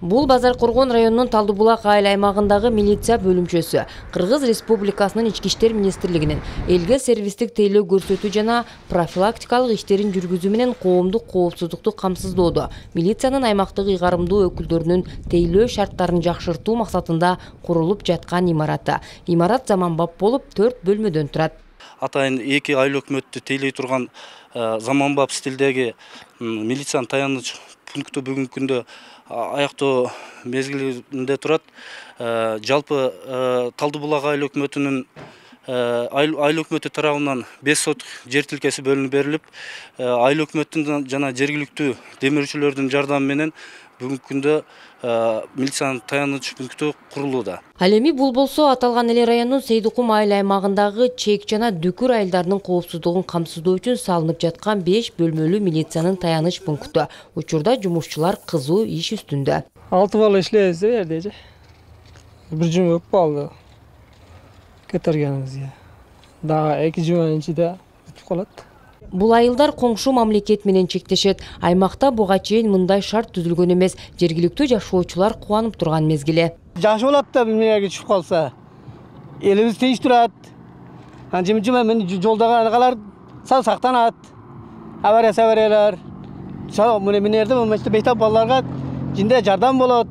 Бул Базаркоргон районунун Талдыбулак айыл аймагындагы милиция бөлүмчөсү Кыргыз Республикасынын Ички иштер министрлигинин элге сервистик тейлөө көрсөтүү жана профилактикалык иштерин жүргүзүү менен коомдук коопсуздукту камсыздоодо милициянын аймактык ыйгарымдуу өкүлдөрүнүн тейлөө шарттарын жакшыртуу максатында курулуп жаткан имараты. Имарат заманбап болуп 4 бөлмөдөн турат. Атайын 2 айыл өкмөттү тейлей турган заманбап стилдеги милициянын таяныч пункту бүгүнкү күндө аяктоо мезгилинде турат. Жалпы Талдыбулак айыл өкмөтүнүн айыл өкмөтү тарабынан 5 соток жер тилкеси бөлүнүп берилип, айыл өкмөттүн жана жергиликтүү демирүүчүлөрдүн жардамы менен бүгүнкү күндө милициянын таяныч пункту курулууда. Ал эми бул болсо аталган эле райондун Сейдикум айыл аймагындагы чек жана дүкүр айылдарынын коопсуздугун камсыздоо үчүн салынып жаткан 5 бөлмөлүү милициянын таяныч пункту. Учурда жумушчулар кызуу иш үстүндө. 6 бала иштейбиз жерде. Бир жума көп болду. Кетергенибизге. Дагы 2 жуманын ичинде бүтүп калат. Бул айылдар коңшу мамлекет менен чектешет. Аймакта буга чейин мындай шарт түзүлгөн эмес. Жергиликтүү жашоочулар кубанып турган мезгили. Жакшы болот да эмнеге түшүп калса. Элибиз тынч турат. Жыма мен жолдогу аналар сактанат. Авариялар. Мынерде болмочто бейтап балдарга жинде жардам болот.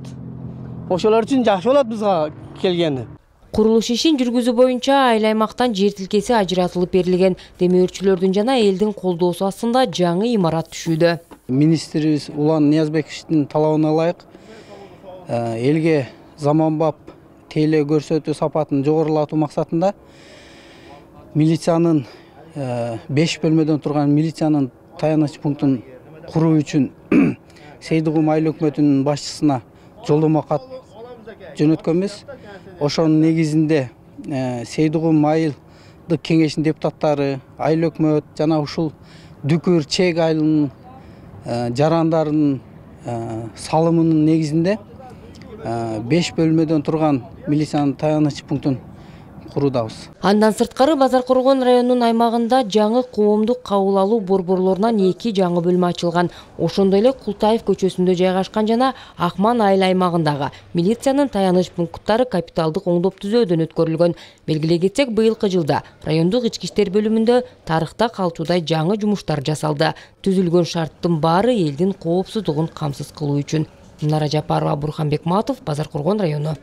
Ошолор үчүн жакшы болот бизге келгени. Курулуш ишин жүргүзүү боюнча айыл аймактан жер тилкеси ажыратылып берилген. Демөөрчүлөрдүн жана элдин колдоосу астында жаңы имарат түшүүдө. Министрибиз Улан Ниязбековичтин талабына ылайык элге заманбап тейлөө көрсөтүү сапатын жогорулатуу максатында милициянын 5 бөлмөдөн турган милициянын таяныч пунктун куруу үчүн Сейдикум айыл өкмөтүнүн башчысына жолдомо кат жөнөткөнбүз. Ошонун негизинде Сейдикум айылдык кеңешинин депутаттары, айыл өкмөт жана ушул дүкүр чек айылынын жарандарынын салымынын негизинде 5 бөлмөдөн турган милициянын таяныч пунктун куруудабыз. Андан сырткары Базаркоргон районунун аймагында жаңы коомдук кабыл алуу борборлорунан 2 жаңы бөлмө ачылган. Ошондой эле Култаев көчөсүндө жайгашкан жана Акман айыл аймагындагы милициянын таяныч пункттары капиталдык оңдоп түзөөдөн өткөрүлгөн. Белгилей кетсек, быйылкы жылда райондук ички иштер бөлүмүндө тарыхта калчудай жаңы жумуштар жасалды. Түзүлгөн шарттын баары элдин коопсуздугун камсыз кылуу үчүн. Нара Жапарова, Бурхан Бекматов, Базаркоргон району.